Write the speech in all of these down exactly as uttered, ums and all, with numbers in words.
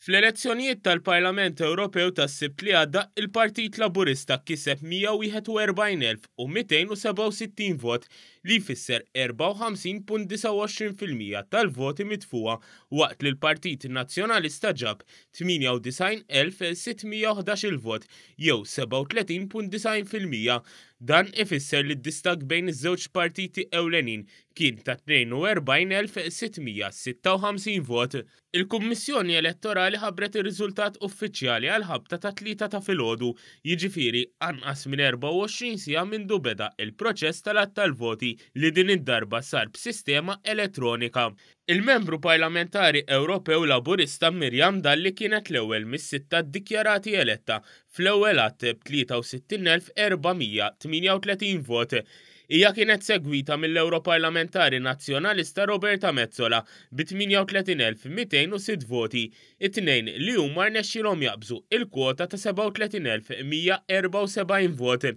Fl-elezzjonijiet tal-Parlament Ewropew tas-Sibt li għadda, il-Partit Laburista kiseb mija wieħed u erbgħin elf u mitejn u sebgħa u sittin vot, li jfisser erbgħa u ħamsin punt disgħa u għoxrin fil-mija tal-voti mitfugħa, waqt li l-Partit Nazzjonalista ġab tmienja u disgħin elf sitt mija u ħdax il-vot, jew sebgħa u tletin punt disgħin fil-mija. Dan ifisser li d-distakk bejn iż-żewġ partiti ewlenin kien ta' tnejn u erbgħin elf sitt mija sitta u ħamsin vot. Il-Kummissjoni Elettorali ħabbret ir-riżultat uffiċjali għal ħabta ta' tlieta ta' filgħodu, jiġifieri anqas minn erbgħa u għoxrin siegħa mindu beda il-proċess tal-għadd tal-voti li din id-darba sar b'sistema elettronika. Il-membru parlamentari Ewropew Laburista Miriam Dalli kienet l-ewwel mis-sitta ddikjarati eletta fl-ewwel għadd b'tlieta u sittin elf erba' mija tmienja u tletin vot. Hija kienet segwita mill-Europarlamentari Nazzjonalista Roberta Metsola bi tmienja u tletin elf mitejn u sitt voti, it-tnejn li huma rnexxielhom jaqbżu il-kwota ta' sebgħa u tletin elf mija erbgħa u sebgħin vot.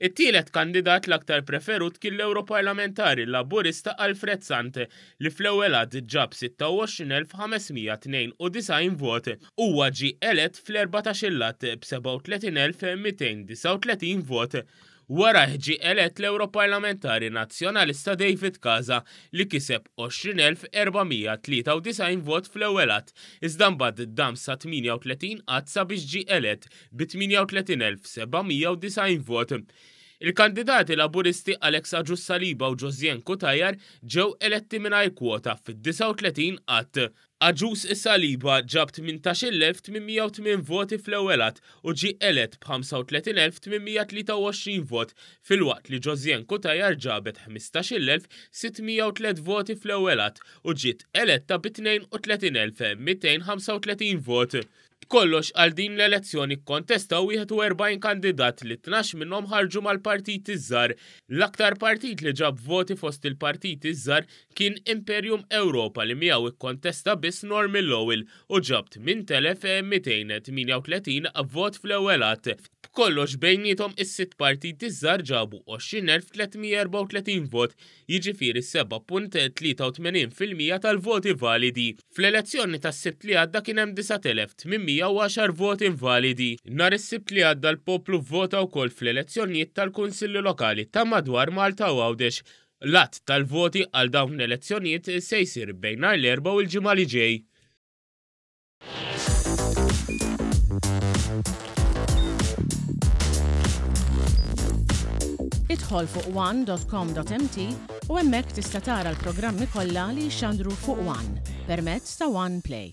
It-tielet kandidat l-aktar preferut kien l-Europarlamentari Laburista Alfred Sant, li fl-ewwel għadd ġab sitta u għoxrin elf ħames mija tnejn u disgħin vot. Huwa ġie elett fl-erbatax-il għadd b'sebgħa u tletin elf mitejn disgħa u tletin vot. Wara ġie elett l-Europarlamentari Nazzjonalista David Casa, li kiseb għoxrin elf erba' mija tlieta u disgħin vot fl-ewwel għadd, iżda mbagħad dam sa tmienja u tletin għadd sabiex ġie elett bi tmienja u tletin elf seba' mija u disgħin vot. Il-kandidati Laburisti Alex Agius Saliba u Josianne Cutajar ġew eletti mingħajr kwota fid-disgħa u tletin għadd. Agius Saliba ġab tmintax-il elf tmien mija u tmien voti fl-ewwel għadd u ġie elett b'ħamsa u tletin elf tmien mija tlieta u għoxrin vot, filwaqt li Josianne Cutajar ġabet ħmistax-il elf sitt mija u tliet voti fl-ewwel għadd u ġiet eletta bi tnejn u tletin elf mitejn ħamsa u tletin vot. B'kollox għal din l-elezzjoni kkontestaw wieħed u erbgħin kandidat li tnax minnhom ħarġu mal-partiti żgħar. L-aktar partit li ġab voti fost il-partiti żgħar kien Imperium Europa li miegħu ikkontesta biss Norman Lowell u ġab tmien telef mitejn tmienja u tletin vot fl-ewwel għadd. B'kollox bejniethom is-sitt partiti żgħar ġabu għoxrin elf tliet mija erbgħa u tletin vot, jiġifieri seba' punt tlieta u tmenin fil-mija tal-voti validi. Fl-elezzjoni tas-Sibt li għadda kien hemm disa' telef tmien mija u għaxar voti invalidi. Nhar is-Sibt li għadda l-poplu vvota wkoll fl-elezzjonijiet tal-Kunsilli Lokali ta' madwar Malta u Għawdex. L-għadd tal-voti għal dawn l-elezzjonijiet se jsir bejn nhar l-Erbgħa u l-Ġimgħa li ġej. Idħol fuq one dot com dot m t u hemmhekk tista' tara l-programmi kollha li jixxandru fuq One permezz ta' One Play.